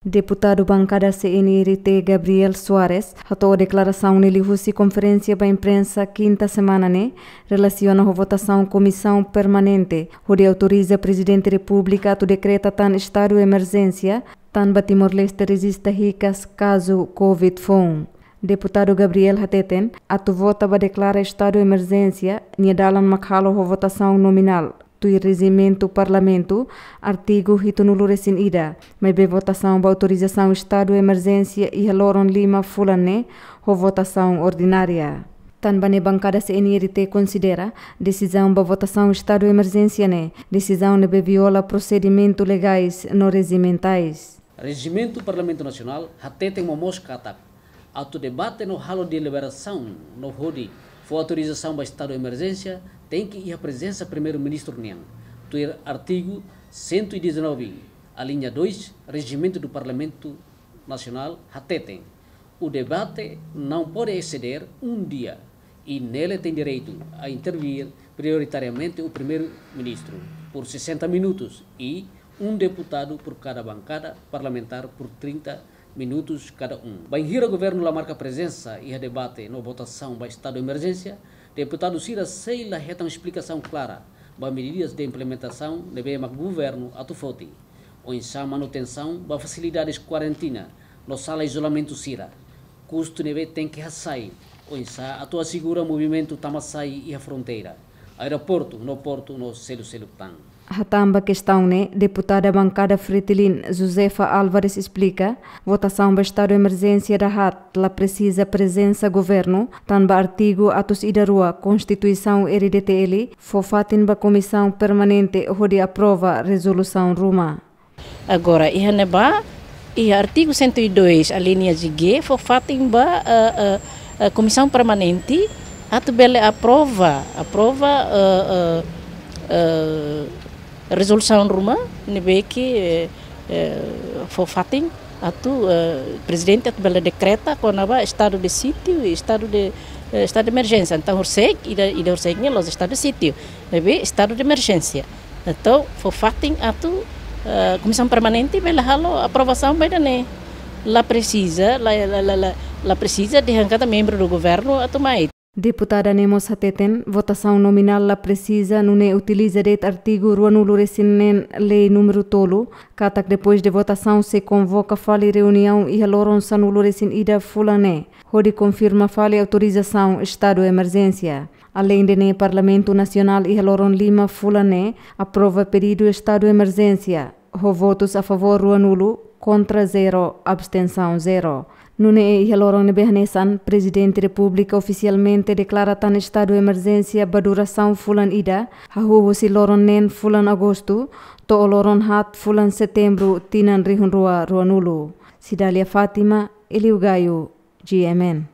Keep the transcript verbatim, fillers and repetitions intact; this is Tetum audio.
Deputadu bankada C N R T Gabriel Soares hato'o deklarasaun ne'e liuhusi konferénsia ba imprensa kinta semana ne'e, relasiona ho votasaun Komisaun Permanente hodi autoriza Prezidente Repúblika atu dekreta tan estadu emerjénsia, tanba Timor-Leste rejista hikas kazu covid foun. Deputadu Gabriel hateten, atu vota ba deklara estadu emerjénsia, nia dalan mak halo ho votasaun nominál, tuir rejimentu Parlamentu, artigu hitunulu resin ida, maibé votasaun ba autorizasaun estadu emerjénsia iha loron lima fulan ne'e, ho votasaun ordinária. Tanba ne'e bankada C N R T konsidera, desizaun ba votasaun estadu emerjénsia ne'e, desizaun ne'ebé viola prosedimentu legais no rejimentais. Rejimentu Parlamentu Nasionál hateten momoos katak, atu debate no halo deliberasaun no hodi fó autorizasaun ba estadu emerjénsia, tenke iha prezensa Primeiru-Ministru nian. Tuir artigu cento e dezanove, alínea dois, Rejimentu do Parlamentu Nasionál hateten, o debate não pode exceder um dia, e nele tem direito a intervir prioritariamente o Primeiro-Ministro, por sessenta minutos, e um deputado por cada bancada parlamentar por trinta minutos cada um. Bainhira governu la marka prezensa iha debate no votasaun ba estadu emerjénsia, deputadu sira sei la hetan esplikasaun klara ba medidas de implementasaun ne'ebé mak governu atu foti. Oinsá manutensaun ba fasilidades kuarentina no sala izolamentu sira. Kustu ne'ebé tenke hasai, oinsá atu asegura movimentu tama-sai iha fronteira, aeroportu no portu no seluk-seluk tan. Hatán ba kestaun ne'e, deputada bankada Fretilin Josefa Álvares esplika, votasaun ba estadu emerjénsia dahaat la presiza prezensa governu, tanba artigu atus ida rua Konstituisaun R D T L fó fatin ba Komisaun Permanente hodi aprova rezolusaun ruma. Agora, iha ne'ebá, iha artigu cento e dois, alínea G, fó fatin ba, eh, eh, eh, Komisaun Permanente atu bele aprova, aprova, eh, eh, eh, rezolusaun ruma ne'ebé ke, eh, eh, fó fatin atu, eh, Prezidente atu bele dekreta kona-ba estadu de sítio, estadu de, eh, estadu de emerjénsia. Entaun, horiseik, ida, ida horiseik ne'e la'ós estadu de sítio, maibé estadu de emerjénsia. Entaun, fó fatin atu, eh, Komisaun Permanente bele halo aprovasaun ba ida-ne'e. La presiza, la, la, la, la, la presiza dehan katak membru do governu atu mai. Deputada ne'e mós hateten, votasaun nominál la presiza, nune'e utiliza de'it artigu ruanulu resin neen Lei númeru tolu, katak depois de votasaun sei konvoka fali reuniaun iha loron sanulu resin ida fulan ne'e, hodi konfirma fali autorizasaun estadu emerjénsia. Aleinde ne'e, Parlamentu Nasionál iha loron lima fulan ne'e aprova pedidu estadu emerjénsia, ho votus a favór ruanulu, kontra zero, abstensaun zero. Nune'e iha loron ne'ebé hanesan, Prezidente Repúblika ofisialmente deklara tan estadu emerjénsia ba durasaun fulan ida, hahú husi loron neen fulan Agostu, to'o loron haat fulan Setembru, tinan rihun rua ruanulu. Cidália Fátima, Eliu Gaio, G M N.